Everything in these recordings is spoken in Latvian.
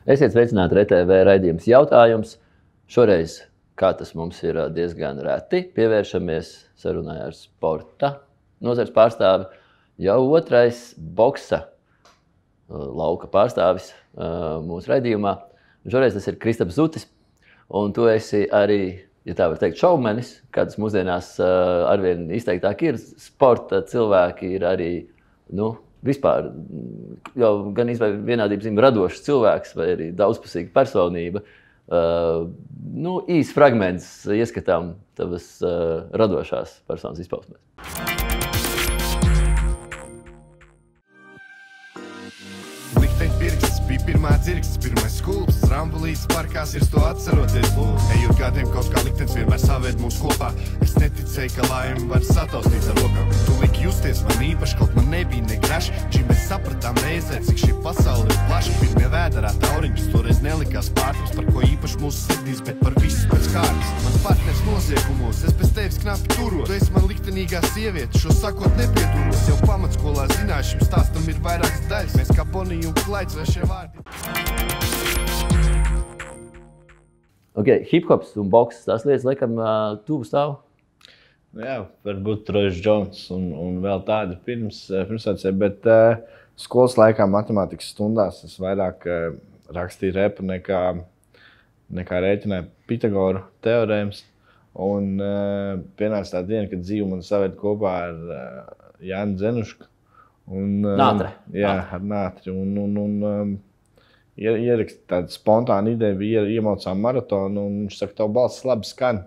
Esiet sveicināti RTV raidījums jautājums. Šoreiz, kā tas mums ir diezgan reti, pievēršamies sarunai ar sporta nozares pārstāvi. Jau otrais boksa lauka pārstāvis mūsu raidījumā. Šoreiz tas ir Kristaps Zutis, un tu esi arī, ja tā var teikt, šovmenis, kādas mūsdienās arvien izteiktāk ir. Sporta cilvēki ir arī, vispār jau gan vienādības zīme radošs cilvēks vai arī daudzpusīga personība. Īs fragments ieskatām tavas radošās personas izpausmēs. Likteņa pirksts bija pirmā dzirksts, pirmais skulps, rambulītes parkās ir to atceroties. Ejot gadiem kaut kā liktenis vienmēr savēd mūs kopā. Es neticēju, ka laimi var sataustīt ar rokām. Tu liki justies man īpaši, kaut man nebija ne graši. Čim mēs sapratām reizē, cik šī pasaule ir plaša. Pirmie vēderā tauriņš toreiz nelikās pārtums, par ko īpaši mūsu sirdīs, bet par visu pēc kārtas. Mans partners noziegumos, es bez tevis knapi turos. Tu esi man liktenīgā sieviete, šo sakot nepieturos. Jau pamatskolā zināju, šim stāstam ir vairākas daļas. Mēs kā Bonija un Klaids vai šie vārdi. Hip-hops un boks, tās lietas, laikam, tuvu stāv? Jā, varbūt Troyes Jones un vēl tādi pirmsācēji, bet skolas laikā matemātikas stundās es vairāk rakstīju repu nekā rēķināju Pitagoru teorēmas. Un pienāca tā diena, kad dzīvu man saved kopā ar Jāni Dzenušku. Nātre. Jā, ar Nātri. Ierakst tādu spontānu ideju, bija iemaucām maratonu, un viņš saka, tavu balss labi skan.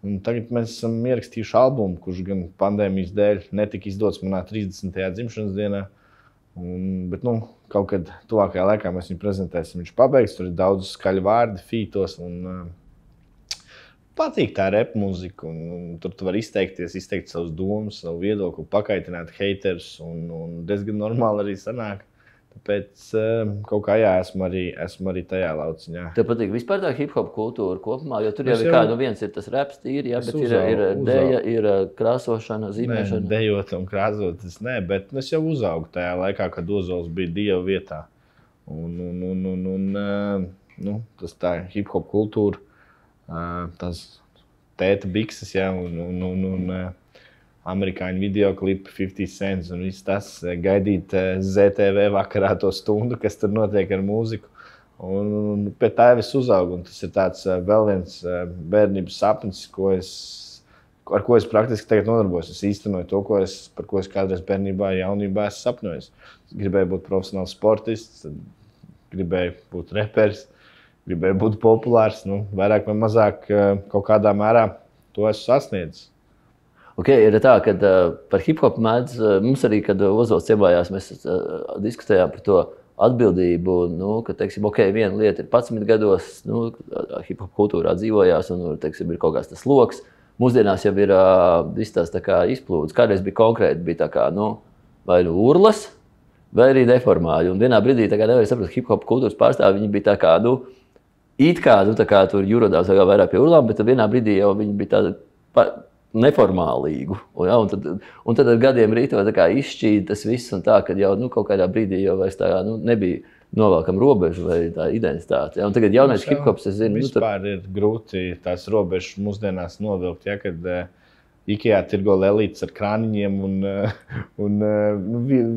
Un tagad mēs esam ierakstījuši albumu, kurš gan pandēmijas dēļ netika izdots manā 30. dzimšanas dienā. Bet kaut kad tuvākajā laikā mēs viņu prezentēsim. Viņš pabeigs, tur ir daudz skaļu vārdi, fītos, un patīk tā rap mūzika. Un tur tu vari izteikt savus domas, savu viedokli, pakaitināt heiterus, un diezgan normāli arī sanāk. Tāpēc kaut kā esmu arī tajā lauciņā. Tev patīk vispār tā hip-hop kultūra kopumā, jo tur jau ir kā, viens ir tas raps tīri, bet ir deja, ir krāsošana, zīmēšana. Nē, dejot un krāsot, bet es jau uzaugu tajā laikā, kad Ozols bija Dieva vietā. Tas tā hip-hop kultūra, tas tēta bikses, un amerikāņu videoklipi, 50 cents un viss tas, gaidīt ZTV vakarā to stundu, kas tur notiek ar mūziku. Un pēc tā jau es uzaugu, un tas ir tāds vēl viens bērnības sapnis, ar ko es praktiski tagad nodarbojos. Es īstenoju to, par ko es kādreiz bērnībā, jaunībā esmu sapņojis. Gribēju būt profesionāls sportists, gribēju būt reperis, gribēju būt populārs, vairāk vai mazāk kaut kādā mērā to esmu sasniedzis. Ir tā, ka par hip-hop mēdz, mums arī, kad Ozols ciemājās, mēs diskutējām par to atbildību, ka, viena lieta ir 11 gados, hip-hop kultūrā dzīvojās, un, ir kaut kāds tas loks. Mūsdienās jau ir viss tās tā kā izplūdes. Kādreiz bija konkrēti, bija tā kā, vai urlas, vai arī neformāļi. Un vienā brīdī, nevar saprast, hip-hop kultūras pārstāvi, viņi bija tā kā, tā kā tur jurodās vairāk pie urlām, bet vienā brīdī jau viņi bija tāda neformālīgu. Un tad ar gadiem rīto izšķīda tas viss, un tā, ka jau kaut kādā brīdī jau vairs tā nebija novelkam robežu vai tā identitāte. Un tagad jaunais hip-hops, es zinu... Vispār ir grūti tās robežas mūsdienās novilkt, kad Ikea tirgo lelītes ar krāniņiem, un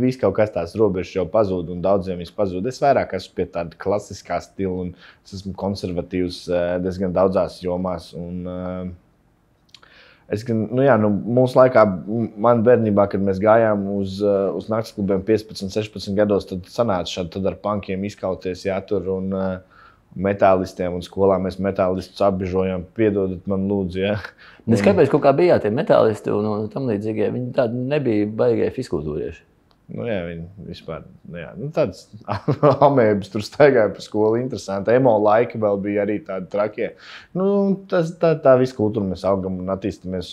viss kaut kas tās robežas jau pazūd, un daudziem viss pazūd. Es vairāk esmu pie tāda klasiskā stila, un es esmu konservatīvs diezgan daudzās jomās, un mūsu laikā, man bērnībā, kad mēs gājām uz naktsklubiem 15, 16 gados, tad sanāca šādi tad ar punkiem izkauties jātur un metālistiem, un skolā mēs metālistus apbižojām, piedodat man lūdzu, Kāpēc kaut kā bijāt tie metālisti un tam līdzīgie, viņi tādi nebija baigie fiskultūrieši? Viņi vispār, tāds amēbas tur staigāja pa skolu, interesanti. Emo laiki vēl bija arī tādi trakie. Tā visu kultūru mēs augam un attīstamies,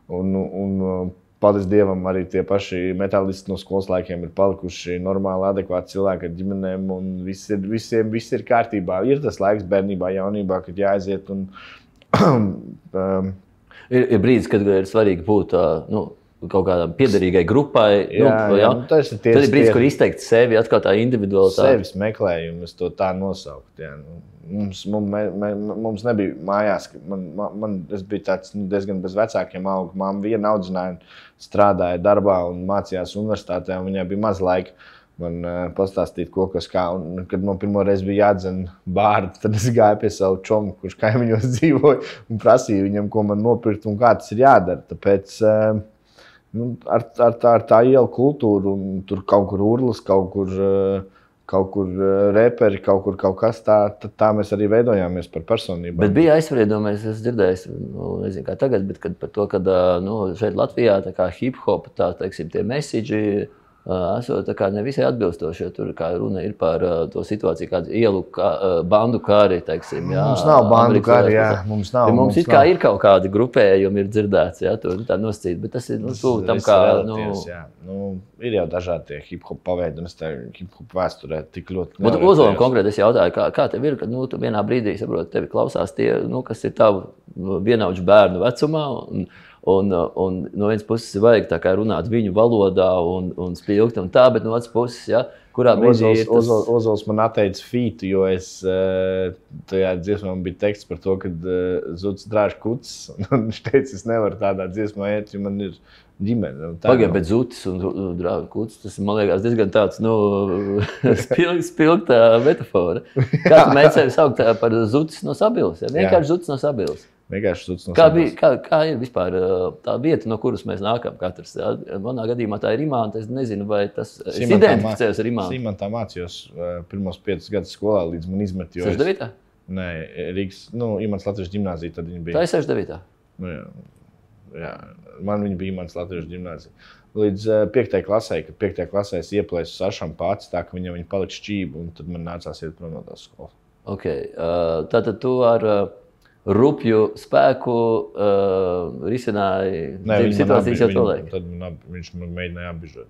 un paldies Dievam, arī tie paši metālisti no skolas laikiem ir palikuši normāli, adekvāti cilvēki ar ģimenēm, un viss ir kārtībā. Ir tas laiks bērnībā, jaunībā, kad jāaiziet un... Ir brīdis, kad ir svarīgi būt kaut kādām piederīgai grupai. Tas ir tad ir brīdis, kur izteikt sevi, atkal tā individualitāte. Sevis meklējumu, es to tā nosaukt. Jā. Mums nebija mājās, es biju tāds diezgan bez vecākiem augu. Mamma viena audzināja, strādāja darbā un mācījās universitātē, un viņai bija maz laika man pastāstīt, ko kas kā. Un, kad man pirmo reizi bija jādzen bārdu, tad es gāju pie savu čomu, kurš kaimiņos dzīvoja, un prasīju viņam, ko man nopirkt un kā tas ir jādara. Tāpēc ar tā ielu kultūru, un tur kaut kur urlas, kaut kur reperi, kaut kas tā mēs arī veidojāmies par personībām. Bet bija aizspriedumais, es dzirdēju, nezinu kā tagad, bet par to, ka šeit Latvijā tā kā hip-hop, tā teiksim, tie message esot tā kā nevisai atbilstoši, jo tur kā runa ir par to situāciju, kādu ielu bandu kāri, teiksim. Jā, mums nav bandu kāri, jā. Mums nav. Ir kaut kādi grupējumi, ir dzirdēts, jā, to tā noscīt, bet tas ir tuvu tam kā... Ir jau dažādi tie hip-hop paveidi, un es te hip-hop vēsturē tik ļoti... Ozolam konkrēti es jautāju, kā tev ir, kad tu vienā brīdī, saprot, tevi klausās tie, kas ir tavu vienaudžu bērnu vecumā, un no vienas puses vajag tā kā runāt viņu valodā un spilgt un tā, bet no otras puses, ja, kurā brīdī ir tas... Ozols man atteica fītu, jo tajā dziesmā bija teksts par to, kad Zuds drāž kucis, un viņš teica, es nevaru tādā dziesmā iet, jo man ir ģimene. Pagaid, bet Zutis un drāž kucis, tas man liekas diezgan tāds, spilgta metafora. Kā tu mēģi sevi saukt par Zutis no Sabilas? Ja? Vienkārši Zutis no Sabilas. Kā ir vispār tā vieta, no kuras mēs nākam katrs? Jā? Manā gadījumā tā ir Imanta. Es nezinu, vai tas identificējas ar Imantu. Imantā mācījos pirmos 5 gadus skolā, līdz man izmet. 69? Nē, Rīgas, Imants Latviešu ģimnāzija, tad viņa bija. Tā ir 69? Jā, man viņa bija Imants Latviešu ģimnāzija. Līdz 5. klasē, kad 5. klasē es ieplēsu Sašam pats, tā ka viņa palika šķība, un tad man nācās iet prom no tās skolas. Okay. Tātad tu ar... rupju spēku risināja situācijas jau to laiku. Tad viņš man mēģināja apbižot.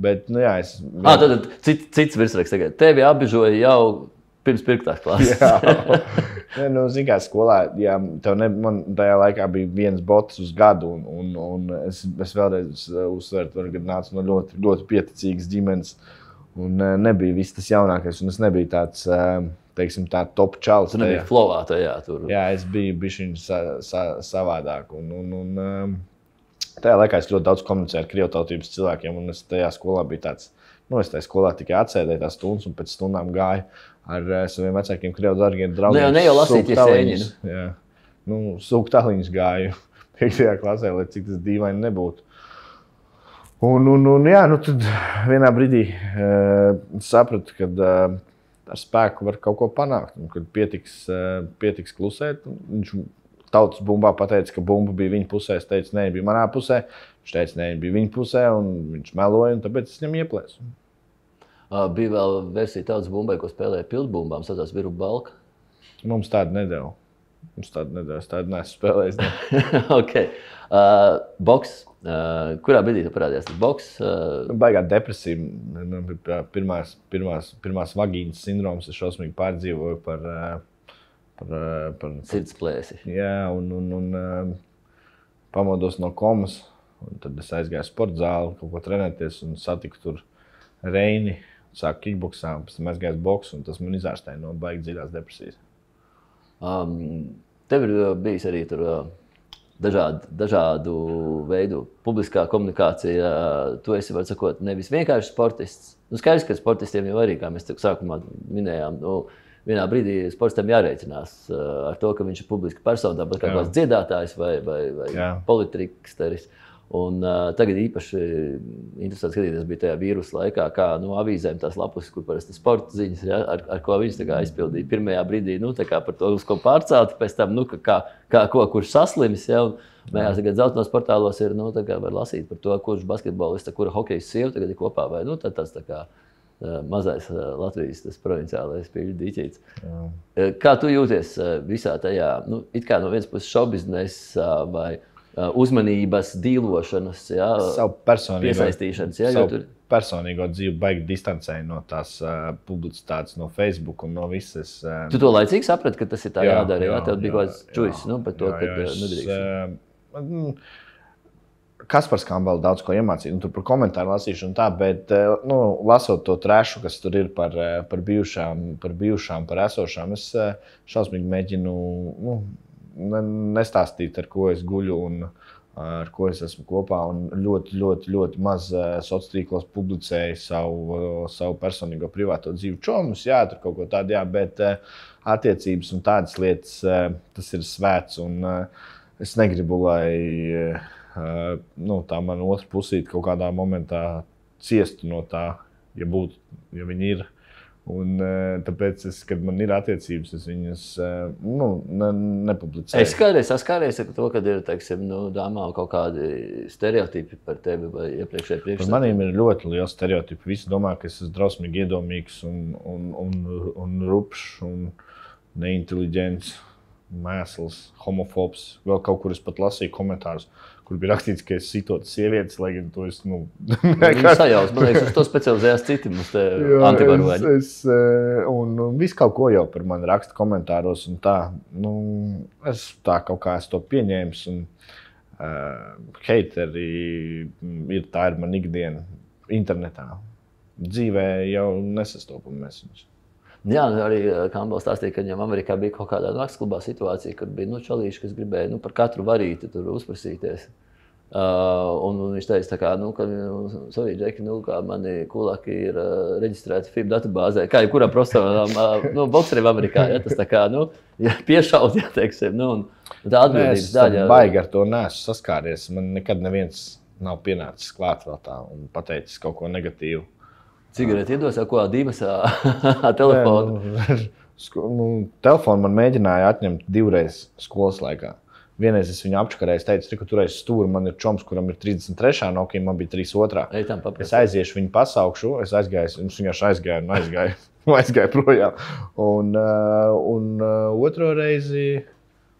Bet, jā, es... Tad cits virsraksts tagad. Tevi apbižoja jau pirms 5. klases. Jā. Zin kā skolā, jā, man tajā laikā bija viens bots uz gadu, un es vēlreiz uzsveru, ka nācu no ļoti, ļoti pieticīgas ģimenes, un nebija viss tas jaunākais, un es nebiju tāds... teiksim tā top čalis. Tu nebija flowā tajā tur. Jā, es biju bišķiņ savādāk. Un tajā laikā es ļoti daudz komunicēju ar krievtautības cilvēkiem, un es tajā skolā biju tāds, es tajā skolā tikai atsēdēju tās stundas, un pēc stundām gāju ar saviem vecākiem krievu dargiem draugiem. Ne jau lasīties sēņinu. Jā. Sūkt taliņus gāju 5. klasē, lai cik tas dīvaini nebūtu. Tad vienā brīdī sapratu, kad ar spēku var kaut ko panākt. Un, kad pietiks klusēt, viņš tautas bumbā pateica, ka bumba bija viņa pusē. Es teicu, nē, bija manā pusē. Viņš teica, nē, bija viņa pusē, un viņš meloja, un tāpēc es viņam ieplēsu. Bija vēl versija tautas bumbai, ko spēlēja pildbumbām, saucās Viru Balka. Mums tādu nedēļu. Es tādu neesmu spēlējis. Okay. Boks. Kurā brīdī tu parādījās? Boks? Baigā depresija. Pirmās vagīnas sindroms. Es šausmīgi pārdzīvoju par sirdsplēsi. Jā, un pamodos no komas. Un tad es aizgāju sporta zāli, kaut ko trenēties un satiku tur Reini. Sāku kickboksā, pēc tam aizgāju boksu, un tas man izārstēja no baigi dziļās depresijas. Tev ir bijis arī tur dažādu veidu publiskā komunikācija. Tu esi, var sakot, nevis vienkārši sportists. Skaidrs, ka sportistiem jau arī, kā mēs sākumā minējām, vienā brīdī sportistam jārēķinās ar to, ka viņš ir publiska persona, tāpat kā kāds dziedātājs vai politriksteris. Un tagad īpaši interesanti skatīties bija tajā vīrusa laikā, kā avīzēm tās lapus, kur parasti sporta ziņas, ja, ar ko viņš aizpildīja. Pirmajā brīdī par to, uz ko pārcelti, pēc tam, kurš saslimis. Ja, mējās tagad zeltainos portālos ir, var lasīt par to, kurš basketbolists, kura hokejas sieva tagad ir kopā, vai tāds tā kā mazais Latvijas provinciālais pīļu dīķīts. Kā tu jūties visā tajā, it kā no vienas puses šovbiznesa vai uzmanības, dīlošanas, piesaistīšanas. Savu personīgo dzīvi baigi distancēju no tās publicitātes, no Facebook un no visas. Tu to laicīgi saprati, ka tas ir tā jādara, jā? Tev bija kaut kāds čuis par to, ka nedrīkst. Kaspars Kambala daudz ko iemācīja, tur par komentāru lasīšanu un tā, bet, lasot to trešu, kas tur ir par bijušām, par esošām, es šausmīgi mēģinu nestāstīt, ar ko es guļu un ar ko es esmu kopā, un ļoti maz sociālos tīklos publicēju savu personīgo privāto dzīvi čomus, jā, tur kaut ko tādu, jā, bet attiecības un tādas lietas, tas ir svēts, un es negribu, lai tā man otra pusīte kaut kādā momentā ciestu no tā, ja viņi ir. Un tāpēc, kad man ir attiecības, es viņas nepublicēju. Es kādreiz saskāries ar to, kad ir, teiksim, dāmām kaut kādi stereotipi par tevi vai iepriekšēji priekšstati. Par maniem ir ļoti liels stereotipi. Visi domā, ka es esmu drausmīgi iedomīgs un rupšs un neinteliģents, mēsls, homofobs. Vēl kaut kur es pat lasīju komentārus, kur bija rakstīts, ka es sitot sievietes, lai gan to es, Viņi sajaus, man liekas, uz to specializējās citi mums te antivaroņi. Un visu kaut ko jau par mani raksta komentāros un tā. Es tā kaut kā es to pieņēmis un heiteri tā ir man ikdiena internetā. Dzīvē jau nesastopam mēs viņus. Jā, arī Kambals stāstīja, ka viņam Amerikā bija kaut kādā naktsklubā situācija, kur bija čalīši, kas gribēja par katru varīti tur uzprasīties. Un viņš teica, ka savī džeki, kā mani kulaki ir reģistrēti FIB datubāzē, kā jebkurā profesionālām bokseriem Amerikā. Ja, tas tā kā, piešaut, ja, teiksim, un tā atbildības daļa. Es baigi ar to neesmu saskāries. Man nekad neviens nav pienācis klāt vēl tā un pateicis kaut ko negatīvu. Cigareti iedos jau ko dīvasā telefonu? Telefonu man mēģināja atņemt 2 reizes skolas laikā. Vienreiz es viņu apčakarēju, es teicu, ka tur aiz stūri man ir čoms, kuram ir 33. Nokia, man bija 32. Es aiziešu viņu pasaukšu, es aizgāju, viņš vienkārši aizgāju projām. Un otru reizi,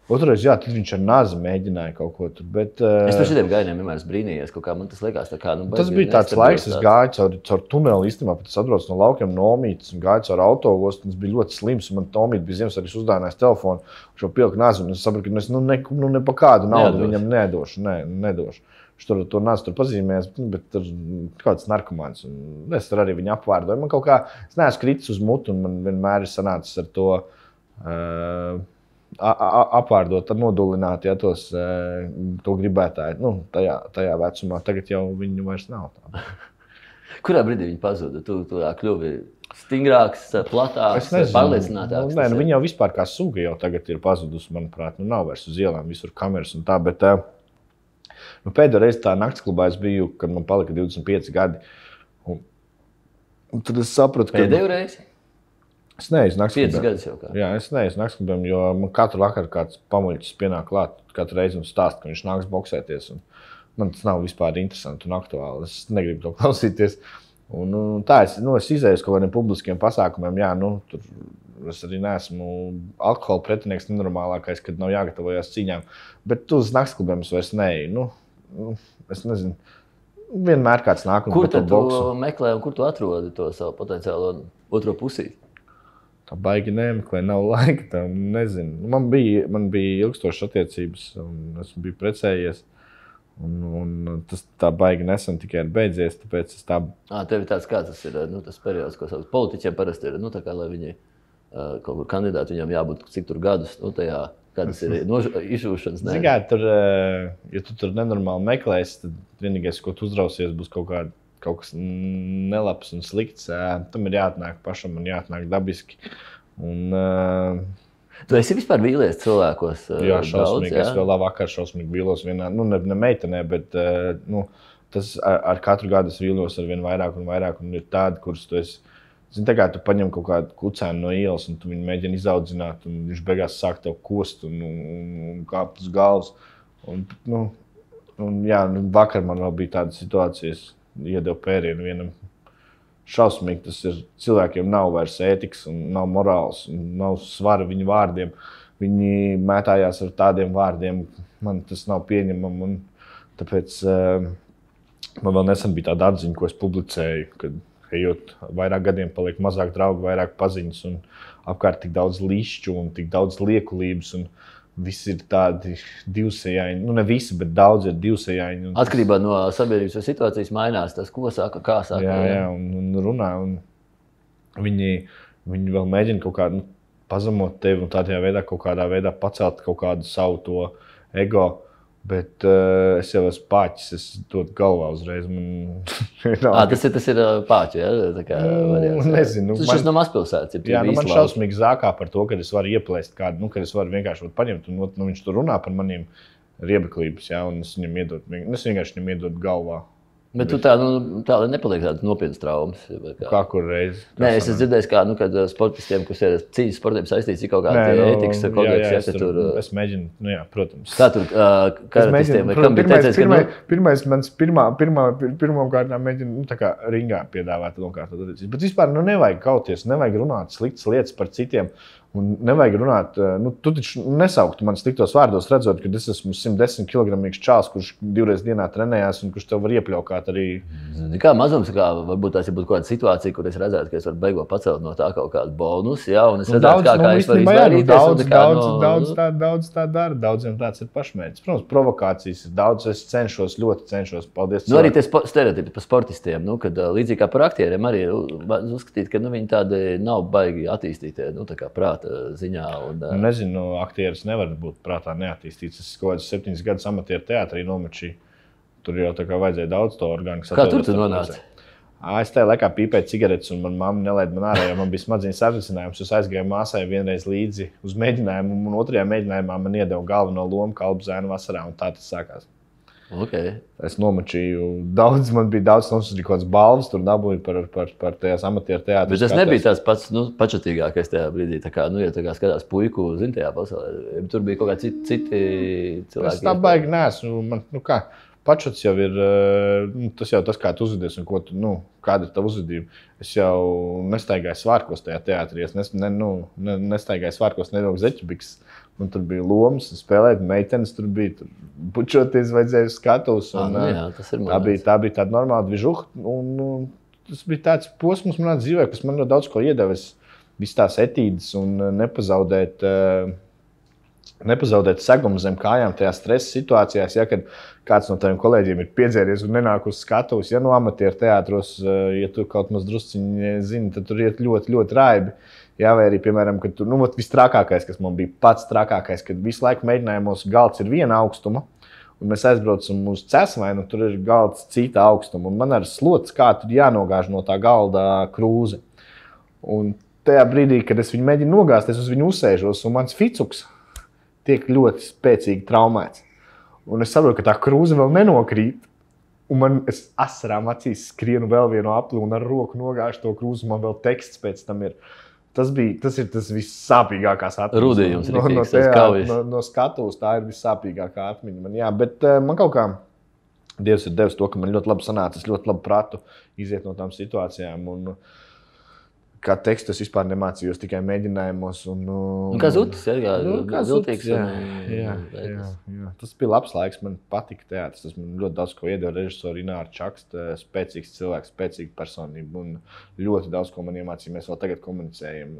jā, tad viņš ar nazi mēģināja kaut ko tur, bet... Es par šitiem gainiem vienmēr brīnījies, kaut kā man tas likās tā kā... Tas bija tāds laiks, es gāju caur tuneli īstenībā, bet es atbraucu no laukiem no Omītas un gāju caur autoostu, un tas bija ļoti slims, un man Omīta bija Ziemassvētkus uzdāvinājis telefonu, šo pilku nazi, un es sapratu, ka es ne pa kādu naudu viņam nedošu. Viņš tur to nazi tur pazīmēs, bet tur kāds narkomāns, un es tur arī viņu apvārdoju. Man kaut kā, es neesmu kritis uz mutu, un man vienmēr ir sanācis ar to... apvārdot, nodulināt, ja to gribētāji, tajā vecumā. Tagad jau viņu vairs nav tā. Kurā brīdī viņi pazuda? Tu kļuvi stingrāks, platāks, pārliecinātāks? Viņi jau vispār kā suga jau tagad ir pazudusi, manuprāt. Nav vairs uz ielām, visur kameras un tā, bet pēdējo reizi tā naktsklubā es biju, kad man palika 25 gadi. Un tad es sapratu, ka... Pēdējo reizi? Es neesmu naktsklubiem. 5 gadus jau kā. Jā, es neesmu naktsklubiem, jo man katru vakaru kāds pamuļķis pienāk klāt, katru reizi un stāst, ka viņš nāks boksēties. Un man tas nav vispār interesanti un aktuāli. Es negribu to klausīties. Un tā, es izēju uz kaut kādiem publiskiem pasākumiem. Jā, tur es arī neesmu alkohola pretinieks nenormālākais, kad nav jāgatavojas cīņām. Bet uz naktsklubiem es vairs neeju. Es nezinu. Vienmēr kāds nāk un kur tad tu meklē un kur tu atrodi to savu potenciālo otro pusīti? Tā baigi nemeklē, nav laika tam, nezinu. Man bija ilgstošas attiecības, un es biju precējies. Un tas tā baigi nesen tikai ir beidzies, tāpēc es tā... Tev ir tāds, kā tas ir, tas periods, ko sauc. Politiķiem parasti ir, tā kā, lai viņi kaut kur kandidāti, viņam jābūt cik tur gadus, tajā, kādas ir izšūšanas. Zigā, ja tu tur nenormāli meklēsi, tad vienīgais, ko tu uzrausies, būs kaut kas nelabs un slikts. Tam ir jāatnāk pašam un jāatnāk dabiski. Tu esi vispār vīlies cilvēkos? Jā, šausmīgi. Jā? Es vēl vakar šausmīgi vīlos vienā, ne meitenē, bet tas ar katru gadu es vīlos ar vien vairāk un vairāk. Un ir tādi, kurus tu esi... Zini, tā kā tu paņem kaut kādu kucēnu no ielas un tu viņu mēģini izaudzināt un viņš beigās sāk tev kost un kāpt uz galvas. Vakar man vēl bija tāda situācijas. Iedeva pērienu vienam šausmīgi, tas ir cilvēkiem nav vairs ētikas un nav morāls un nav svara viņu vārdiem. Viņi mētājās ar tādiem vārdiem, man tas nav pieņemam un tāpēc man vēl nesen bija tāda atziņa, ko es publicēju, kad ejot vairāk gadiem paliek mazāk draugu, vairāk paziņas un apkārt tik daudz lišķu un tik daudz liekulības un visi ir tādi divsējaini. Nu, ne visi, bet daudz ir divsējaini. Atkarībā no sabiedrības situācijas mainās tas, ko saka, kā saka. Jā, un runā. Un viņi vēl mēģina kaut kā pazemot tevi un tādā veidā pacelt kaut kādu savu to ego. Bet es jau esmu pāķis, es dodu galvā uzreiz. Tas ir pāķi, ja? Tā kā variants. Nezinu. Tas no mazpilsētas ir. Jā, man šausmīgi zākā par to, ka es varu ieplēst kādu, kad es varu vienkārši paņemt un viņš tur runā par maniem riebeklības, ja, un es vienkārši viņam iedodu galvā. Bet tu tā nepaliek tādas nopietnas traumas. Kā kur reizi? Nē, es esmu dzirdējis, kad sportistiem, kas ir cīņas sportiem saistīts, ir kaut kāda ētikas kodeks. Es mēģinu, protams. Kā tur karatistiem vai kam bija teicies, Pirmām kārtām mēģinu tā kā ringā piedāvāt nokārtot attiecības. Bet vispār nevajag kauties, nevajag runāt sliktas lietas par citiem. Un nevajag runāt, tu taču nesauktu man sliktos vārdos, redzot, ka es esmu 110 kg čāls, kurš 2 reizes dienā trenējās un kurš tev var iepļaukāt arī. Kā mazums, varbūt tās ir kaut kāda situācija, kur es redzētu, ka es varu beigot pacelt no tā kaut kādu bonusu, ja, un es redzētu, kā es varu izvairīties. Daudz tā dara, daudziem tāds ir pašmērķis. Protams, provokācijas ir daudz, es ļoti cenšos, paldies. Arī tie stereotipi par sportistiem, kad līdzīgi kā par aktieriem arī uzskatīt, ka viņi tādi nav baigi attīstītie, tā kā prāta ziņā. Nezinu, aktieris nevar būt prātā neattīstīts. Es kaut kādus 7 gadus amatieru teātrī nomačīju. Tur jau tā kā vajadzēja daudz to orgānu. Kā tur tu nonāci? Es tajā laikā pīpēju cigaretes, un man mamma nelaida man ārā, jo man bija smadzeņu satricinājums. Es aizgāju māsai vienreiz līdzi uz mēģinājumu, un otrajā mēģinājumā man iedeva galveno lomu Kalpu zēnu vasarā, un tā tas sākās. Okay. Es nomačīju daudz, man bija daudz nosūtīju kaut kādas balvas, tur dabūju par tajās amatieru teātrus. Bet tas nebija tās pats pačatīgākais tajā brīdī, ja tā kā skatās puiku tajā pasaulē. Tur bija kaut kādi citi cilvēki. Es tā baigi neesmu. Pačats jau ir tas, kā tu uzvedies un kāda ir tava uzvedība. Es jau nestaigāju svārkos tajā teātrī, es nestaigāju svārkos nevilku zeķubiks. Un tur bija lomas, spēlēt, meitenes tur bija, tur bučoties vajadzēja uz skatus. Tā bija tāda normāla dvižuha. Tas bija tāds posms manā dzīvē, kas man daudz ko iedeva. Visas tās etīdes un nepazaudēt segumu zem kājām tajā stresa situācijās. Ja, kad kāds no taviem kolēģiem ir piedzēries un nenāk uz skatuves, ja no amatieru teātros, ja tu kaut maz drusciņi zini, tad tur iet ļoti, ļoti raibi. Jā, vai arī, piemēram, kad tur, viss trakākais, kas man bija pats trakākais, kad visu laiku mēģinājumos galds ir viena augstuma, un mēs aizbraucam uz Cesvainu, tur ir galds cita augstuma, un man ar slots, kā tur jānogāž no tā galda krūze. Un tajā brīdī, kad es viņu mēģinu nogāzt, es uz viņu uzsēžos, un mans ficuks tiek ļoti spēcīgi traumēts. Un es saprotu, ka tā krūze vēl nenokrīt, un es asarām acīs skrienu vēl vienu apli un ar roku nogāžu to krūzi, man vēl teksts pēc tam ir. Tas ir tas vissāpīgākās atmiņas. Rudījums, no skatuves tā ir vissāpīgākā atmiņa man. Jā, bet man kaut kā Dievs ir devis to, ka man ļoti labi sanāca, es ļoti labi pratu iziet no tām situācijām. Un kā tekstu es vispār nemācījos, tikai mēģinājumos. Kā zutis, zultīgs. Jā. Tas bija labs laiks, man patika teātris. Tas man ļoti daudz ko iedeva režisori Ināra Čaksta, spēcīgs cilvēks, spēcīga personība. Un ļoti daudz ko man iemācīja, mēs vēl tagad komunicējam.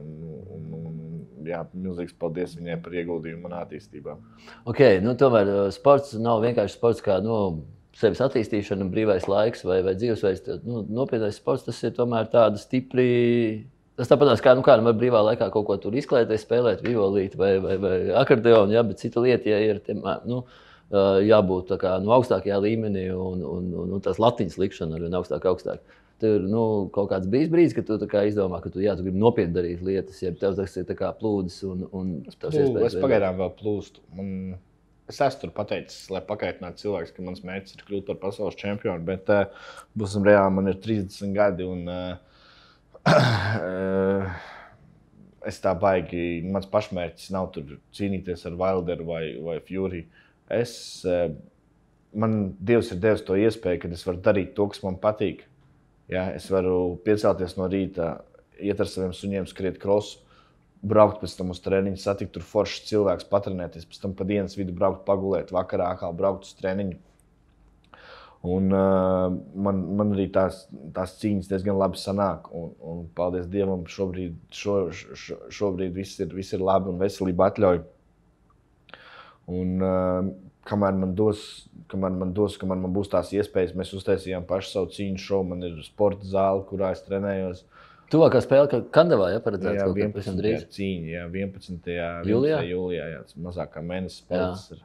Milzīgs paldies viņai par ieguldījumu manā attīstībā. Tomēr sports nav vienkārši sports kā sevis attīstīšana, brīvais laiks vai dzīvesveids. Nopietnais sports, tas ir tomēr tāda stipri. Tas tāpat kā var brīvā laikā kaut ko tur izklēties, spēlēt violīti vai akordeonu, bet cita lieta, ja ir jābūt augstākajā līmenī un tās latiņas likšana ar vien augstāk. Tur ir kaut kāds bijis brīdis, kad tu izdomā, ka tu gribi nopietni darīt lietas, ja tev tas ir plūdes un tavs iespējas. Es pagaidām vēl plūstu. Es esmu tur pateicis, lai pakaitinātu cilvēks, ka mans mērķis ir kļūt par pasaules čempionu, bet būsim reāli, man ir 30 gadi un es tā baigi, mans pašmērķis nav tur cīnīties ar Wilderu vai Fury. Man Dievs ir devis to iespēju, ka es varu darīt to, kas man patīk. Ja, es varu piecelties no rīta, iet ar saviem suņiem, skriet krosu, braukt pēc tam uz treniņu, satikt tur foršs cilvēks, patrenēties, pēc tam pa dienas vidu braukt pagulēt, vakarā atkal braukt uz treniņu. Un man arī tās cīņas diezgan labi sanāk, un paldies Dievam, šobrīd viss ir labi un veselība atļauj. Un kamēr man būs tās iespējas, mēs uztaisījām pašu savu cīņu šovu. Man ir sporta zāle, kurā es trenējos. Tuvākā spēle Kandavā, ja paredzēts Jā, kaut kad pavisam drīz? cīņa, jā, 11. Jūlijā? Jūlijā, jā, tas mazākā mēnesis spēles ir.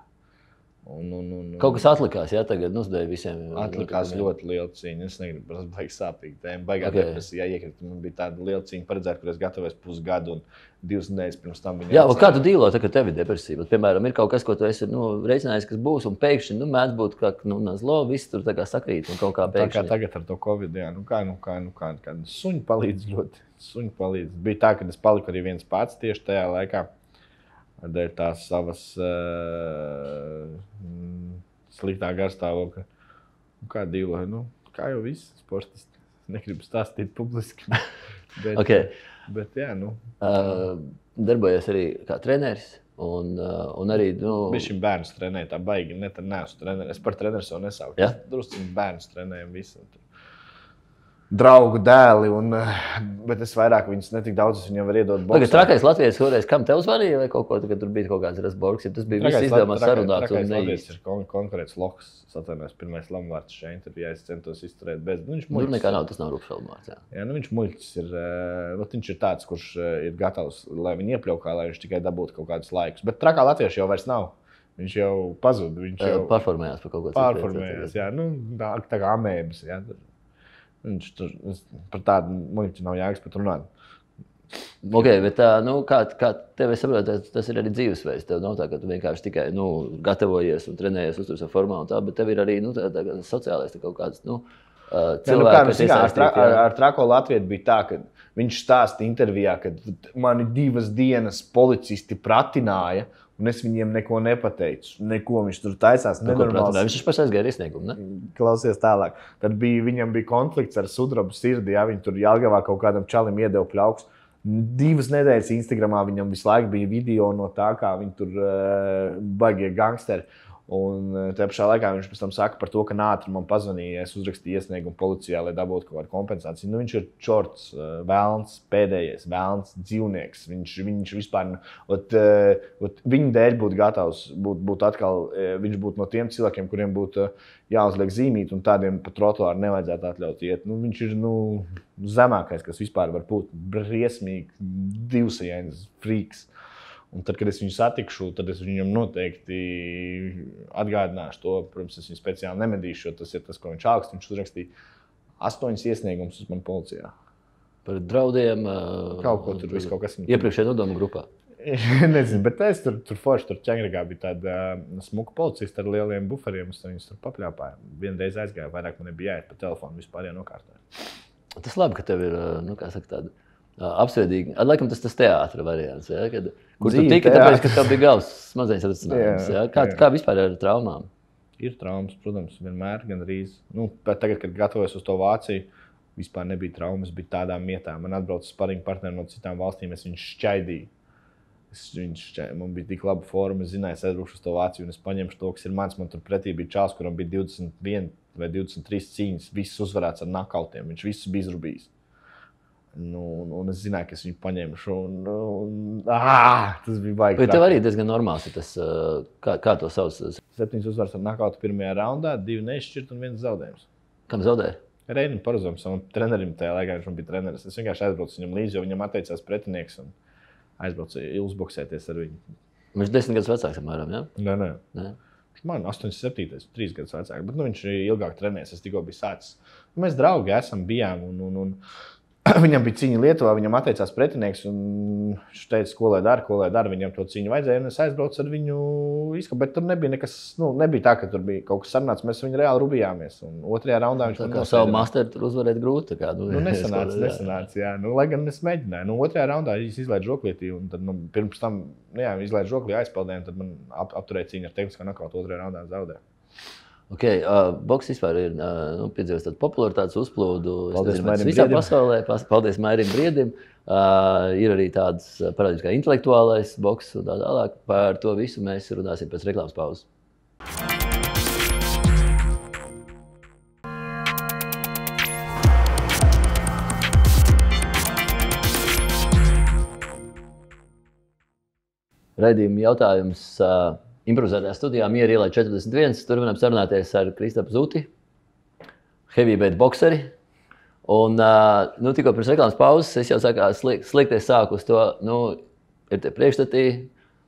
Kaut kas atlikās, jā, tagad uzdēja visiem. Atlikās ļoti liela cīņa. Es negribu, tas baigi sāpīgi tēma. Baigā depresija iekrita. Man bija tāda liela cīņa paredzēta, kur es gatavojos pusgadu un 2 nedēļas pirms tam viņa. Jā, kā tu dīlo, ka tev ir depresija? Piemēram, ir kaut kas, ko tu esi reicinājis, kas būs, un pēkšņi mēdz būt, ka nazlo, viss tur tā kā sakrīt un kaut kā pēkšņi. Tā kā tagad ar to Covid, jā, kā suņi palīdz ļoti. Suņi palīdz. Bija tā, ka es paliku arī viens pats tieši tajā laikā. Dēļ tās savas sliktā garstāvokļa. Kā dīloju, kā jau visi sportisti. Negribu stāstīt publiski. Bet jā, darbojies arī kā treneris. Un arī, Bišķiņ bērnus trenēju, tā baigi, neesmu treneris. Es par treneris jau nesauku. Ja? Drusciņ bērnus trenējam visu. Draugu dēli, bet es vairāk viņus netik daudz, es viņam var iedot boksā. Tagad trakais Latvijas kādreiz, kam tev zvanīja vai kaut ko, kad tur bija kaut kāds rasborgs, ja tas bija viss izdevumās sarunāts un neīsti. Latvijas ir konkurēts Lohs, atvainojos, pirmais Lamvārds šajā intervijā, es centos izturēt bez. Tur nekā nav, tas nav Rupšalmārds, jā. Jā, viņš muļķis ir, viņš ir tāds, kurš ir gatavs, lai viņu iepļaukā, lai viņš tikai dabūtu kaut kādus laikus. Bet trakā latvieši jau vairs nav. Viņš jau pazud, viņš jau pārformējās par kaut ko. Pārformējās, jā, tā kā amēbas, jā. Viņš tur par tādu muļķi nav jēgas pat runāt. Ok, bet kā tev es saprotu, tas ir arī dzīvesveids. Tev nav tā, ka tu vienkārši tikai gatavojies un trenējies, uztur savu formā un tā, bet tev ir arī tā sociālais kaut kāds cilvēki, kas iesaistīti. Ar trako latvietu bija tā, ka viņš stāsta intervijā, ka mani 2 dienas policisti pratināja, un es viņiem neko nepateicu. Neko viņš tur taisās. Viņš pašais aizgāja iesniegumu, ne? Klausies tālāk. Tad viņam bija konflikts ar sudrabu sirdi, ja viņi tur Jelgavā kaut kādam čalim iedeva pļauks. 2 nedēļas Instagramā viņam visu laiku bija video no tā, kā viņi tur baigie gangsteri. Un tajā pašā laikā viņš pēc tam saka par to, ka ātri man pazvanīja, es uzrakstīju iesniegumu policijā, lai dabūtu kaut kādu kompensāciju. Viņš ir čorts, vēlns, pēdējais, vēlns dzīvnieks. Viņš vispār, viņa dēļ būtu gatavs, būt atkal, viņš būtu no tiem cilvēkiem, kuriem būtu jāuzliek zīmīt, un tādiem pa trotuāru nevajadzētu atļaut iet. Viņš ir zemākais, kas vispār var būt briesmīgi, divsajains frīks. Un tad, kad es viņu satikšu, tad es viņam noteikti atgādināšu to. Protams, es viņu speciāli nemedīšu, jo tas ir tas, ko viņš augst. Viņš uzrakstīja 8 iesniegumus uz mani policijā. Par draudiem? Kaut ko tur viss kaut kas. Iepriekšējā nodomu grupā? Nezinu, bet es tur forši, tur Ķengrigā bija tāda smuka policista ar lieliem buferiem. Es viņus tur papļāpāju. Vienreiz aizgāju, vairāk man nebija jāiet pa telefonu, vispār jānokārtoju. Tas labi, ka tev ir, kā saka, tāda apsveidīgi. Laikam tas teātra variants, ja? Kur tu tiki, tāpēc, ka tev bija galvas smadzenes atrisinājums. Ja? Kā vispār ar traumām? Ir traumas, protams, vienmēr, gandrīz. Tagad, kad gatavojos uz to Vāciju, vispār nebija traumas, bija tādām vietām. Man atbrauca sparinga partneri no citām valstīm, es viņus šķaidīju. Man bija tik laba forma, es zināju, es aizbraukšu uz to Vāciju un es paņemšu to, kas ir mans. Man tur pretī bija čāls, kuram bija 21 vai 23 cīņas, viss uzvarēts ar nakautiem, viņš visus bija izrubījis. Un es zināju, ka es viņu paņemšu. Tas bija baigi. Bet tev arī diezgan normāls ir tas, kā to sauc? 7 uzvaras ar nakautu pirmajā raundā, 2 neizšķirt un 1 zaudējums. Kam zaudēja? Reinim Paruzam, savam trenerim tajā laikā, viņš man bija treneris. Es vienkārši aizbraucu viņam līdzi, jo viņam atteicās pretinieks un aizbraucu uzboksēties ar viņu. Viņš 10 gadus vecāks, apmēram, ja? Nē. Man 87, 3 gadus vecāk, bet viņš ilgāk trenēs, es tikko biju sācis. Mēs draugi bijām un viņam bija cīņa Lietuvā, viņam atteicās pretinieks, un viņš teica, ko lai dara, viņam to cīņu vajadzēja, un es aizbraucu ar viņu izskatu, bet tur nebija nekas, nebija tā, ka tur bija kaut kas sarunāts, mēs viņu reāli rubījāmies, un 2. raundā viņš man nospēdināja. Savu masteru tur uzvarēt grūti, tā kā. Nesanāca, jā, lai gan es mēģināju. 2. raundā es izlaidu žoklītī, un tad man pirms tam, izlaidu žoklī aizpeldēju, un tad man apturēja cīņu ar tehniskā nakautu 2. raundā zaudēju. Ok, boks vispār ir piedzīvojis tādu popularitātes uzplūdu. Paldies Mairim visā Briedim. Pasaulē. Paldies Mairim Briedim. Ir arī tāds parādības kā intelektuālais boks un tā tālāk. Par to visu mēs runāsim pēc reklāmas pauzes. Raidījuma jautājums improvizētajā studijā Miera ielā 41. Turpinām sarunāties ar Kristapu Zuti, heavyweight bokseri. Un tikko pirms reklāmas pauzes es jau sliekties sāku uz to, ir tie priekšstatī,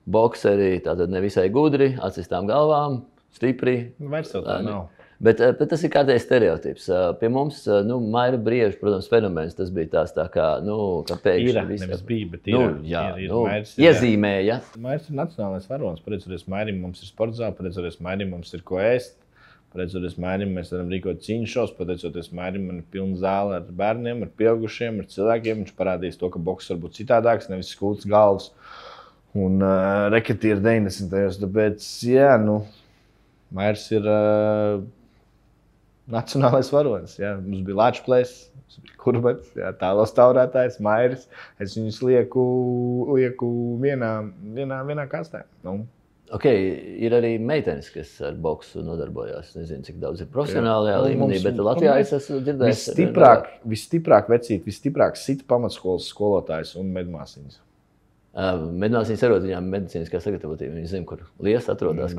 bokseri, tātad nevisai gudri, atsistām galvām, stipri. Vairs jau tā nav. Bet tas ir kārtējs stereotips. Pie mums, Maira Brieža, protams, fenomens, tas bija tās tā kā, ka pēkšņi viss. Nevis bija, bet ir. Iezīmēja. Mairs ir nacionālais varonis. Pateicoties Mairim, mums ir sportzāle, pateicoties Mairim, mums ir ko ēst. Pateicoties Mairim, mēs varam rīkot cīņu šovus, pateicoties Mairim, man ir pilna zāle ar bērniem, ar pieaugušiem, ar cilvēkiem. Viņš parādīs to, ka boks var būt citādāks, nevis skūts galvas un reketi ir 90. Tāpēc, Mairs ir nacionālais varonis. Jā. Mums bija Lačplēs, Kurbats, tālos taurētājs, Mairis. Es viņus lieku vienā kastē. Ir arī meitenes, kas ar boksu nodarbojās. Nezinu, cik daudz ir profesionālajā līmenī, bet Latvijā es esmu dzirdējis. Visstiprāk vecīt, visstiprāk sit pamatskolas skolotājs un medmāsiņas. Medmāsiņas arot viņām medicīniskā sagatavotība. Viņi zina, kur lies atrodas.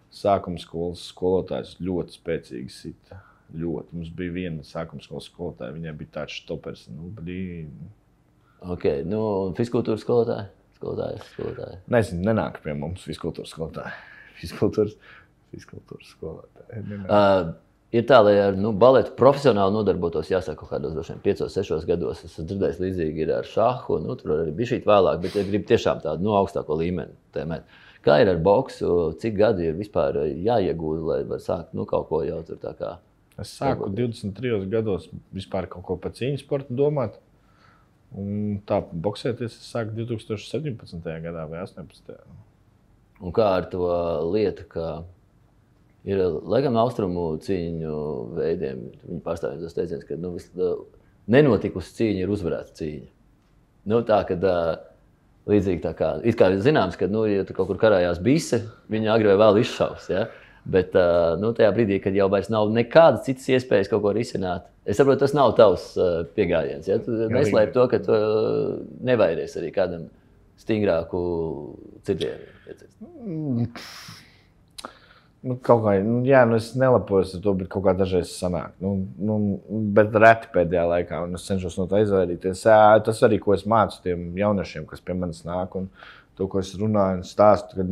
Sākuma skolas skolotājs ļoti spēcīgi sita. Ļoti. Mums bija viena sākuma skolas skolotāja, viņai bija tāds štopers. Fiskultūras skolotāja? Skolotāji. Nezinu, nenāk pie mums fiskultūras skolotāji. Fiskultūras skolotāji. Ir tā, lai ar baletu profesionāli nodarbotos, jāsaka, kaut kādos 5-6 gados. Es dzirdēju, līdzīgi ir ar šahu, tur arī bija šī vēlāk, bet es gribu tiešām tādu augstāko līmeni tēmēt. Kā ir ar boksu, cik gadi ir vispār jāiegūda, lai var sākt kaut ko jau tur tā kā? Es sāku 23 gados vispār kaut ko par cīņu sportu domāt. Un tā boksēties es sāku 2017. gadā vai 18. Un kā ar to lietu, ka ir laikam austrumu cīņu veidiem, viņi pārstāvja tos teiciens, ka nenotikusi cīņa ir uzvarēta cīņa. Tā, kad līdzīgi tā kā, it kā zināms, ka, ja tu kaut kur karājās bise, viņa agri vai vēl izšaus, ja? Bet tajā brīdī, kad jau vairs nav nekādas citas iespējas kaut ko risināt, es saprotu, tas nav tavs pieejams. Ja? Tu neslēp to, ka tu nevairies arī kādam stingrāku cirtienu. Kaut kā, es nelapojos ar to, bet kaut kā dažreiz sanāk. Bet reti pēdējā laikā, un es cenšos no tā izvairīties. Tas arī, ko es mācu tiem jauniešiem, kas pie manis nāk, un to, ko es runāju un stāstu, kad,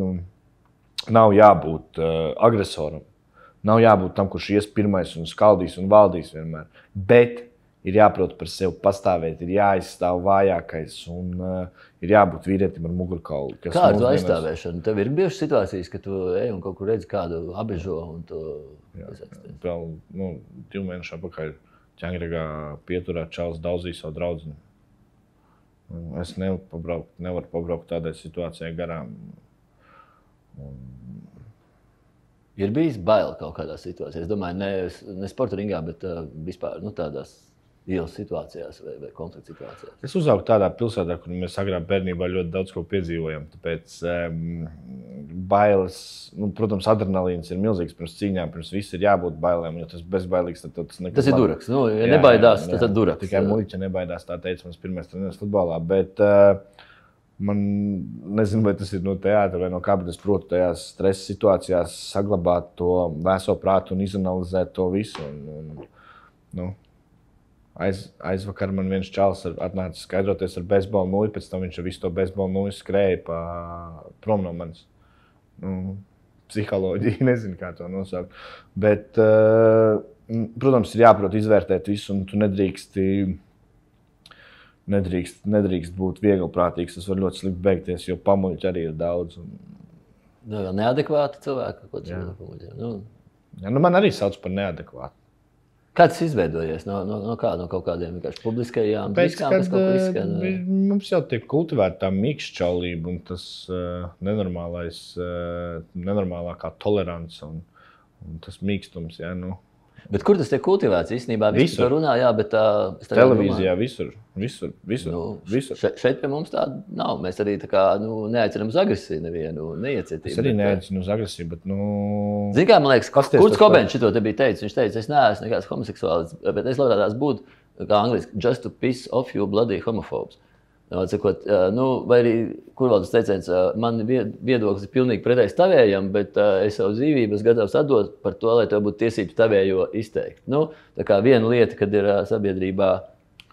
nav jābūt agresoram. Nav jābūt tam, kurš ies pirmais un skaldīs un valdīs vienmēr. Bet ir jāprot par sevi pastāvēt, ir jāizstāv vājākais un ir jābūt vīrietim ar mugurkaulu. Kā ar to aizstāvēšanu? Tev ir bijušas situācijas, ka tu ej un kaut kur redzi kādu abežo un tu... Vēl 2 mēnešu apakaļ Ķengregā pieturā čalis daudzīja savu draudzini. Es nevaru pabraukt tādai situācijai garām. Ir bijis bail kaut kādā situācijā. Es domāju, ne sporta ringā, bet vispār tādās ielas situācijās vai konflikta situācijās. Es uzaugu tādā pilsētā, kur mēs agrāk bērnībā ļoti daudz ko piedzīvojam. Tāpēc bailes, protams, adrenalīns ir milzīgs pirms cīņām, pirms viss ir jābūt bailēm. Jo tas bezbailīgs, tad tas nekas. Tas ir duraks. Ja nebaidās, tad duraks. Tikai muļķa nebaidās, tā teica mans pirmais treneris futbolā. Bet man nezinu, vai tas ir no teātra vai no kā, bet es protu tajās stresa situācijās saglabāt to vēso prātu un izanalizēt to visu. Aizvakar man viens čalis atnāca skaidroties ar beisbola nūju, pēc tam viņš ar visu to beisbola nūju skrēja prom no manis. Psiholoģija, nezinu, kā to nosaukt. Bet, protams, ir jāprot izvērtēt visu, un tu nedrīkst būt vieglprātīgs. Tas var ļoti slikti beigties, jo pamuļķi arī ir daudz. Neadekvāti cilvēki, ko tas pamuļķi? Man arī sauc par neadekvātu. Kā tas izveidojies? No kaut kādiem vienkārši publiskajām diskām, kas kaut ko izskan? Mums jau tiek kultivēta tā mīkšķaulība un tas nenormālākā tolerance un tas mīkstums, Bet kur tas tiek kultivēts? Īstenībā viss to runā, bet televīzijā visur. Šeit pie mums tāda nav. Mēs arī neaicinām uz agresiju nevienu, neiecietību. Es arī neaicinu uz agresiju, bet Zini kā, man liekas, Kurts Cobains šito te bija teicis. Viņš teica, es neesmu nekāds homoseksuāls, bet es labprātās būtu, kā angliski, just to piss off you bloody homophobes. Atsakot, vai arī, kur vēl tas teiciens, man viedoklis ir pilnīgi pretējs tavējam, bet es savu dzīvību gatavs atdot par to, lai tev būtu tiesības tavējo izteikt. Tā kā viena lieta, kad ir sabiedrībā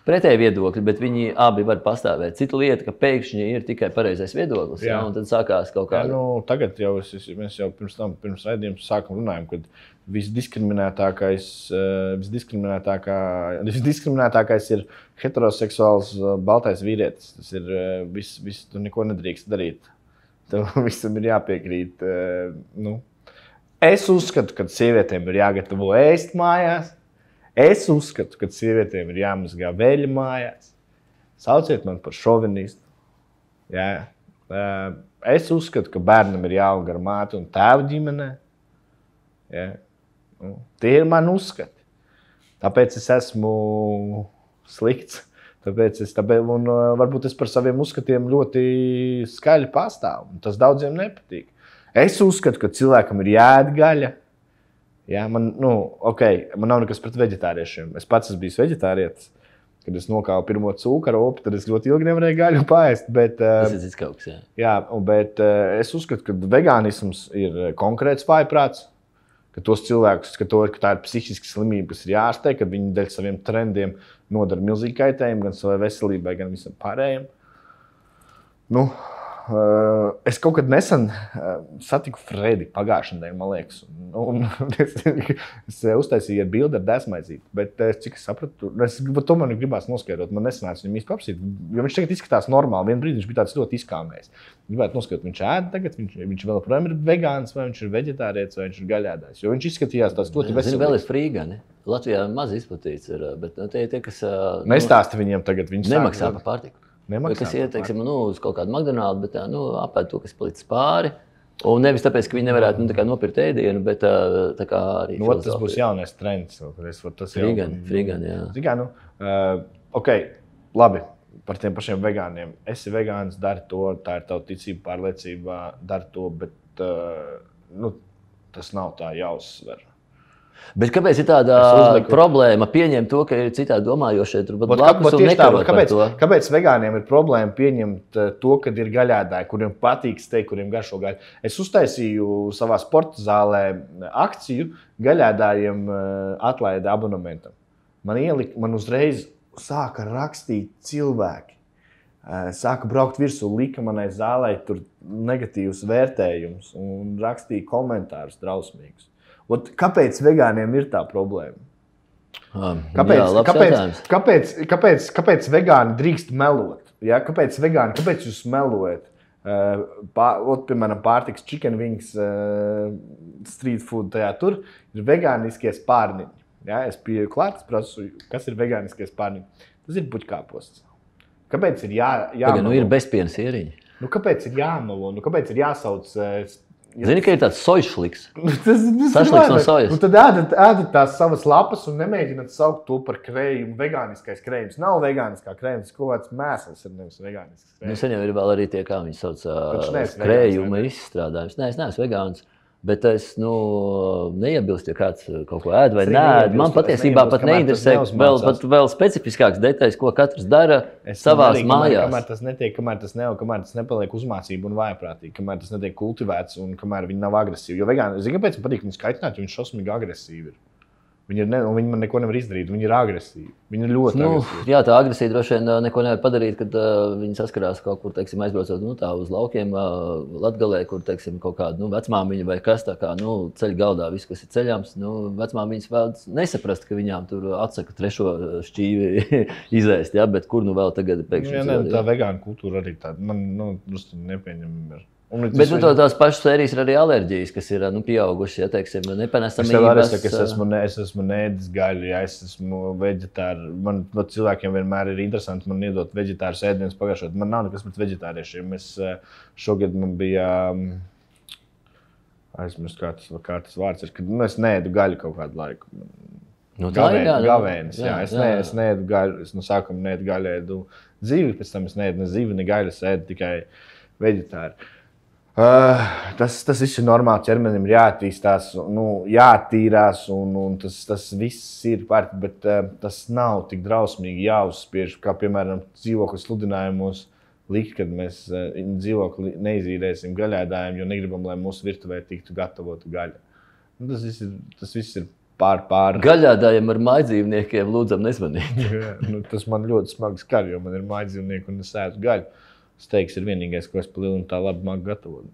pretēji viedokļi, bet viņi abi var pastāvēt. Cita lieta, ka pēkšņi ir tikai pareizais viedoklis, un tad sākās kaut kā. Tagad jau mēs jau pirms raidījuma sākam runājam, kad visdiskriminētākais ir heteroseksuāls baltais vīrietis. Tas ir viss, tu neko nedrīkst darīt. Tev visam ir jāpiekrīt. Es uzskatu, ka sievietēm ir jāgatavo ēst mājās. Es uzskatu, ka sievietēm ir jāmazgā veļa mājās. Sauciet man par šovinistu. Jā. Es uzskatu, ka bērnam ir jāaug ar māti un tēvu ģimenē. Jā. Tie ir mani uzskati. Tāpēc es esmu slikts. Varbūt es par saviem uzskatiem ļoti skaļi pastāvu. Tas daudziem nepatīk. Es uzskatu, ka cilvēkam ir jāēd gaļa. Jā, man nav nekas pret veģetāriešiem. Es pats esmu bijis veģetārietis. Kad es nokāvu pirmo cūka ropu, tad es ļoti ilgi nevarēju gaļu paēst. Tas ir kaut kas, jā. Jā, bet es uzskatu, ka vegānisms ir konkrēts vājprāts. Ka tos cilvēkus, ka tā ir psihiska slimība, kas ir jārastē, kad viņi dēļ saviem trendiem nodara milzīgi kaitējumu gan savai veselībai, gan visam pārējiem. Es kaut kad nesen satiku Fredi pagājušajā nedēļā, man liekas. Es uztaisīju ar bildi ar desmaizīti, bet cik es sapratu, to man gribās noskaidrot. Man nesanāca viņam īsti papsīt, jo viņš tagad izskatās normāli. Vienu brīdi viņš bija tāds ļoti izkāmējis. Gribētu noskaidrot, viņš ēd tagad, viņš vēl projām ir vegāns, vai viņš ir veģetārietis, vai viņš ir gaļēdājs. Jo viņš izskatījās tās ļoti veselīgs. Vēl ir frīgani. Latvijā maz izplatīts ir, bet tie, kas... Nestāsti viņiem tagad, viņi nemaksā par pārtiku. Kas iet, uz kaut kādu McDonald's, bet apēd to, kas palicis pāri. Un nevis tāpēc, ka viņi nevarētu nopirkt ēdienu, bet tā kā arī filozofija. Tas būs jaunais trends. Frīgani, jā. Labi, par tiem pašiem vegāniem. Esi vegāns, dari to, tā ir tava ticība, pārliecība, dari to, bet tas nav tā jāuzsver. Bet kāpēc ir tāda problēma pieņemt to, ka ir citādi domājošie tur blakus un nekarot par to? Kāpēc vegāniem ir problēma pieņemt to, kad ir gaļēdāji, kuriem patīk steik, kuriem garšo gaļu? Es uztaisīju savā sporta zālē akciju gaļēdājiem atlaida abonementam. Man uzreiz sāka rakstīt cilvēki. Sāka braukt virsū, lika manai zālē tur negatīvus vērtējumus un rakstīja komentārus drausmīgus. Kāpēc vegāniem ir tā problēma? Kāpēc vegāni drīkst melot? Ja? Kāpēc jūs melojat? Piemēram, pārtiks chicken wings, street food, tur ir vegāniskie spārniņi. Ja? Es pieeju klāt, es prasu, kas ir vegāniskie spārniņi. Tas ir puķkāposts. Kāpēc ir jāmelo? Ir bezpienas ieriņi. Kāpēc ir jāmelo? Kāpēc ir jāsauc... Zini, ka ir tāds sojšliks. Sašliks no sojas. Tad ēdat tās savas lapas un nemēģināt saukt to par krējumu. Vegāniskais krējums. Nav vegāniskā krējums, tas kaut kāds mēsls ir nevis vegānisks krējums. Sen jau ir vēl arī tie, kā viņi sauc, krējuma izstrādājums. Nē, es neesmu vegāns. Bet es neiebilstu, ja kāds kaut ko ēd vai nēd. Man patiesībā pat neinteresē vēl specifiskāks detaļas, ko katrs dara savās mājās. Kamēr tas nepaliek uzmācība un vājprātīgi, kamēr tas netiek kultivēts un kamēr viņi nav agresīvi. Jo vegāni, zini, kāpēc man patīk viņus kaitināt, jo viņi šausmīgi agresīvi ir. Viņi man neko nevar izdarīt, viņi ir agresīvi. Viņi ir ļoti agresīvi. Jā, tā agresija droši vien neko nevar padarīt, kad viņi saskarās kaut kur, teiksim, aizbraucot tā uz laukiem Latgalē, kur, teiksim, kaut kāda vecmāmiņa vai kas tā kā ceļ galdā viss, kas ir ceļams. Vecmāmiņas vēl nesaprast, ka viņām tur atsaka trešo šķīvi izēst, ja? Bet kur vēl tagad pēkšņi? Tā vegāna kultūra arī tāda, man drusti nepieņemama ir. Bet tās pašas sērijas ir arī alerģijas, kas ir pieaugušas, ja teiksim, nepanesamības. Es esmu neēdis gaļu, ja es esmu veģetāri. Man cilvēkiem vienmēr ir interesanti man iedot veģetārus ēdienus pagājušajā. Man nav nekas pret veģetāriešiem. Šogad man bija, aizmirst, kā tas vārds ir, kad es neēdu gaļu kaut kādu laiku. Gavēnis, jā. Es neēdu gaļu, es no sākuma neēdu gaļu, ēdu zivi, pēc tam es neēdu ne zivi, ne gaļu, es ēdu tikai veģetāri. Tas viss ir normāli. Ķermenim ir jāattīstās, jāattīrās, un tas viss ir pārāk, bet tas nav tik drausmīgi jāuzspiež, kā piemēram dzīvokļu sludinājumos likt, kad mēs dzīvokli neizīrēsim gaļēdājiem, jo negribam, lai mūsu virtuvē tiktu gatavota gaļa. Tas viss ir pār. Gaļēdājiem ar mājdzīvniekiem lūdzam nezvanīt. Tas man ļoti smagi skar, jo man ir mājdzīvnieki un es ēdu gaļu. Steiks ir vienīgais, ko es palielu un tā labi māku gatavot.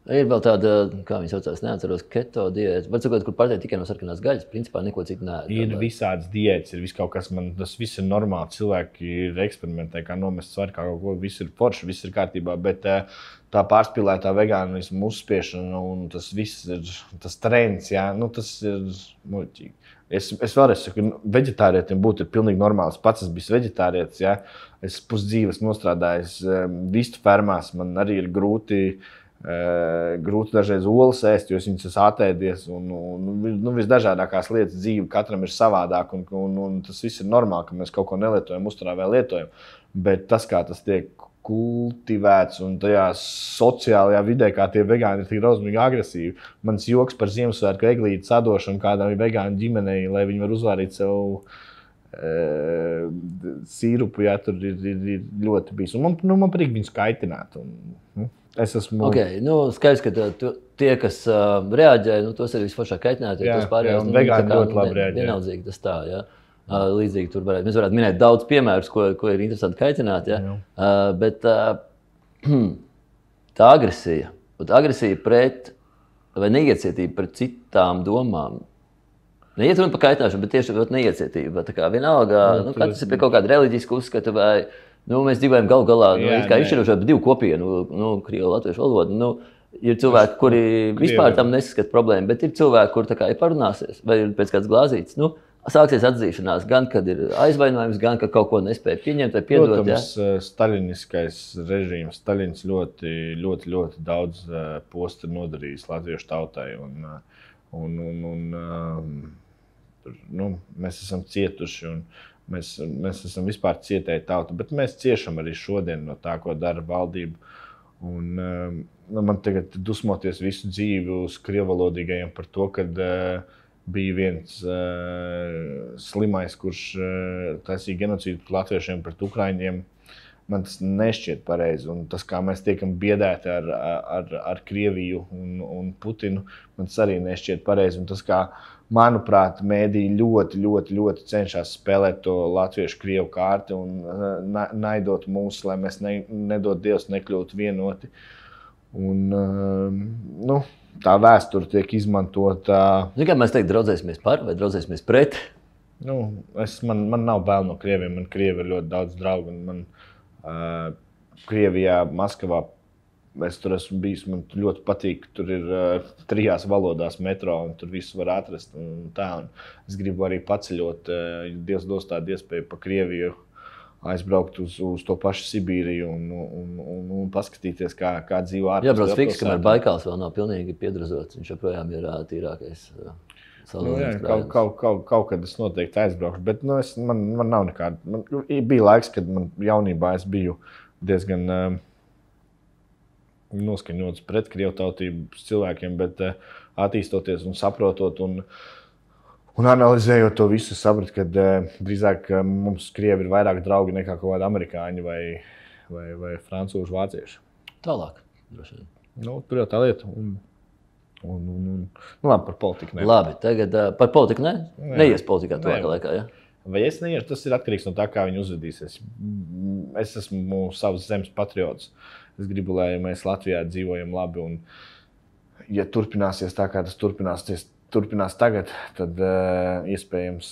Ir vēl tāda, kā viņi saucās, neatceros, keto diēta. Var sakot, kur pārtiek tikai no sarkanās gaļas, principā neko citu neēd. Ir visādas diētas, ir viss kaut kas, tas viss ir normāli. Cilvēki ir eksperimentē, kā nomest svaru, kā kaut ko, viss ir forši, viss ir kārtībā, bet tā pārspīlētā vegānismu uzspiešana un tas viss ir, tas trends, tas ir muļķīgi. Es vēlreiz saku, veģetārietim būtu pilnīgi normāls. Pats es biju veģetārietis, es pusdzīves nostrādājis vistu fermās, man arī ir grūti dažreiz olas ēst, jo es viņas esmu atēdies un visdažādākās lietas dzīve katram ir savādāk un tas viss ir normāli, ka mēs kaut ko nelietojam, uzturā vēl lietojam, bet tas, kā tas tiek kultivēts un tajā sociālajā vidē, kā tie vegāni ir tik drausmīgi agresīvi. Mans joks par Ziemassvētku eglītes sadošanu kādam vegānu ģimenei, lai viņi var uzvārīt sev sīrupu, tur ir ļoti bijis. Un man patīk viņus kaitināt. Es esmu... Skaidrs, ka tie, kas reaģē, tos arī visforšāk kaitināt, jo tos pārējās vegāni ļoti labi reaģē. Vienaldzīgi tas tā, līdzīgi tur mēs varētu minēt daudz piemērus, ko ir interesanti kaitināt, bet tā agresija pret vai neiecietība pret citām domām. Neiet runa par kaitināšanu, bet tieši neiecietība. Tā kā vienalga, katrs ir pie kaut kāda reliģiska uzskata vai mēs dzīvojam galu galā, kā izšķirošā divu kopienu, krievu latviešu valodu. Ir cilvēki, kuri vispār tam nesaskat problēmu, bet ir cilvēki, kur tā kā ir parunāsies vai ir pēc kāds glāzīts. Sāksies atzīšanās, gan kad ir aizvainojums, gan kad kaut ko nespēja pieņemt vai piedot. Protams, staļiniskais režīms, Staļins ļoti daudz postu ir nodarījis latviešu tautai. Mēs esam cietuši un mēs esam vispār cietēji tauta, bet mēs ciešam arī šodien no tā, ko dara valdība. Man tagad dusmoties visu dzīvi uz krievalodīgajiem par to, kad bija viens slimais, kurš taisīja genocīdu pret latviešiem, pret ukraiņiem. Man tas nešķiet pareizi. Un tas, kā mēs tiekam biedēti ar Krieviju un Putinu, man tas arī nešķiet pareizi. Un tas, kā, manuprāt, mēdī ļoti cenšas spēlēt to latviešu-krievu kārti un naidot mūs, lai mēs nedod Dievs nekļūtu vienoti. Tā vēsture tiek izmantota. Kā mēs teikt, draudzēsimies par vai draudzēsimies pret? Man nav bail no krieviem. Man Krievi ir ļoti daudz draugu. Man Krievijā, Maskavā, es tur esmu bijis. Man ļoti patīk. Tur ir 3 valodās metro un tur visu var atrast. Un es gribu arī paceļot, ja Dievs dos tādu iespēju pa Krieviju aizbraukt uz to pašu Sibīriju un paskatīties, kā dzīvo ārpus. Jābrauc fiks, kamēr Baikāls vēl nav pilnīgi piedrazots. Viņš joprojām ir tīrākais salūnijas krājums. Kaut kad es noteikti aizbraukšu, bet man nav nekāda. Bija laiks, kad man jaunībā es biju diezgan noskaņots pret krievu tautības cilvēkiem, bet attīstoties un saprotot un analizējot to visu, sapratu, ka drīzāk mums Krievi ir vairāk draugi nekā kaut kādi amerikāņi vai francūži, vācieši. Tālāk, droši vien. Tur jau tā lieta. Labi, par politiku ne. Labi, tagad par politiku ne? Neies politikā tuvākā laikā, ja? Vai es neiešu, tas ir atkarīgs no tā, kā viņi uzvedīsies. Es esmu savas zemes patriots. Es gribu, lai mēs Latvijā dzīvojam labi un ja turpināsies tā, kā tas turpinās tagad, tad iespējams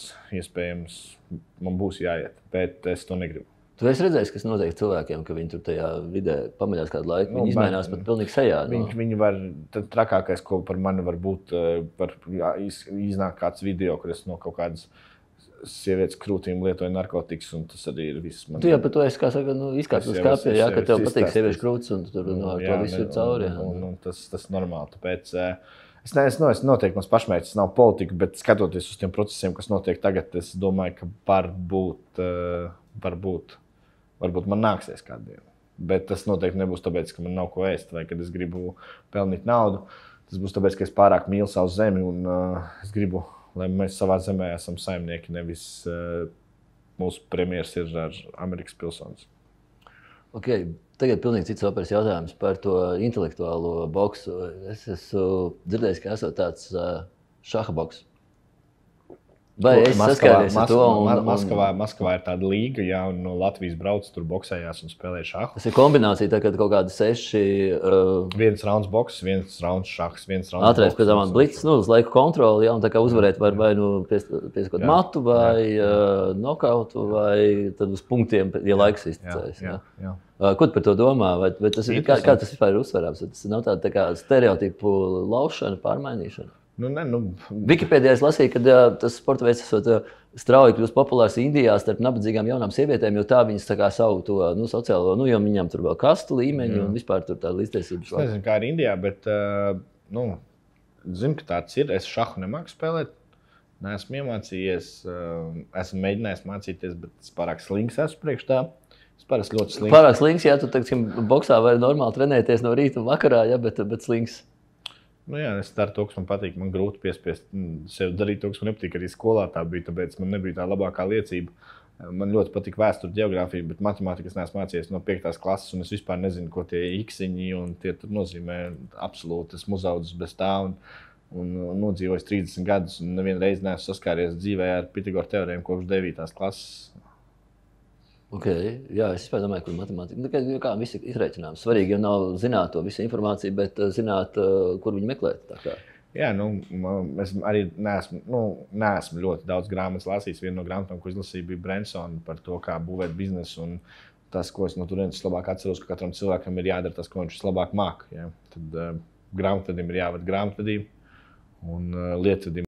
man būs jāiet, bet es to negribu. Tu esi redzējis, kas notiek cilvēkiem, ka viņi tur tajā vidē pamaļās kādu laiku, viņi izmainās pat pilnīgi sejā. Viņi var, tad trakākais, ko par mani var būt, var iznāk kāds video, kur es no kaut kādas sievietes krūtīm lietoju narkotikas, un tas arī ir viss. Tu jau par to esi, kā saka, izkāpj uz skāpja, jā, ka tev patīk sieviešu krūtis, un tur to visu ir cauri. Tas normāli, tāpēc es noteikti mans pašmērķis nav politika, bet skatoties uz tiem procesiem, kas notiek tagad, es domāju, ka varbūt man nāksies kādu dienu. Bet tas noteikti nebūs tāpēc, ka man nav ko ēst vai kad es gribu pelnīt naudu. Tas būs tāpēc, ka es pārāk mīlu savu zemi un es gribu, lai mēs savā zemē esam saimnieki, nevis mūsu premjeras ir ar Amerikas pilsonis. Okay. Tagad pilnīgi cits operas jautājums par to intelektuālo boksu. Es esmu dzirdējis, ka esot tāds šaha boks. Vai es saskāries ar to? Maskavā ir tāda līga, ja, un no Latvijas brauc, tur boksējās un spēlē šahu. Tas ir kombinācija, tā, kad kaut kādi 6... Viens rauns boks, viens rauns šahs, viens rauns Ātrais, pēc tam blitz, uz laiku kontroli, ja, un tā kā uzvarēt var vai pieskot matu, vai nokautu, vai tad uz punktiem, ja laiks izticēs. Jā. Ko tu par to domā? Vai tas ir, kā tas vispār ir uzsverāms? Tas nav tā kā stereotipu laušana, pārmainīšana? Wikipēdijā es lasīju, ka tas sporta veids esot strauji kļūst populārs Indijā starp nabadzīgām jaunām sievietēm, jo tā viņas tā kā savu to sociālo, jo viņām tur vēl kastu līmeņi un vispār tur tāda līdztiesības. Es nezinu, kā ir Indijā, bet zinu, ka tāds ir. Es šahu nemāku spēlēt, neesmu iemācījies, esmu mēģinājis mācīties, bet es pārāk slings esmu priekš tā. Es parasti ļoti slings. Pārāk slings, ja tu teiksim, boksā var normāli trenēties no rīta un vakarā, ja, bet slings. Jā, es daru to, kas man patīk. Man grūti piespiest sev darīt to, kas man nepatīk. Arī skolā tā bija, tāpēc man nebija tā labākā liecība. Man ļoti patīk vēsture, geogrāfija, bet matemātikas neesmu mācījies no 5. klases, un es vispār nezinu, ko tie iksiņi un tie tur nozīmē. Absolūti, esmu uzaudzis bez tā un nodzīvojis 30 gadus, un nevienu reizi neesmu saskāries dzīvē ar Pitagora teorēmu kopš 9. klases. Okay. Jā, es domāju, ka matemātika kā viss ir izreikināms. Svarīgi jau nav zināt to visu informāciju, bet zināt, kur viņu meklēt. Jā, es arī neesmu ļoti daudz grāmatas lasījis. Viena no grāmatām, ko izlasīju, bija Bransona par to, kā būvēt biznesu. Un tas, ko es no turienes labāk atceros, ka katram cilvēkam ir jādara tas, ko viņš vislabāk māk. Ja? Tad grāmatvedim ir jāved grāmatvedība un lietvedim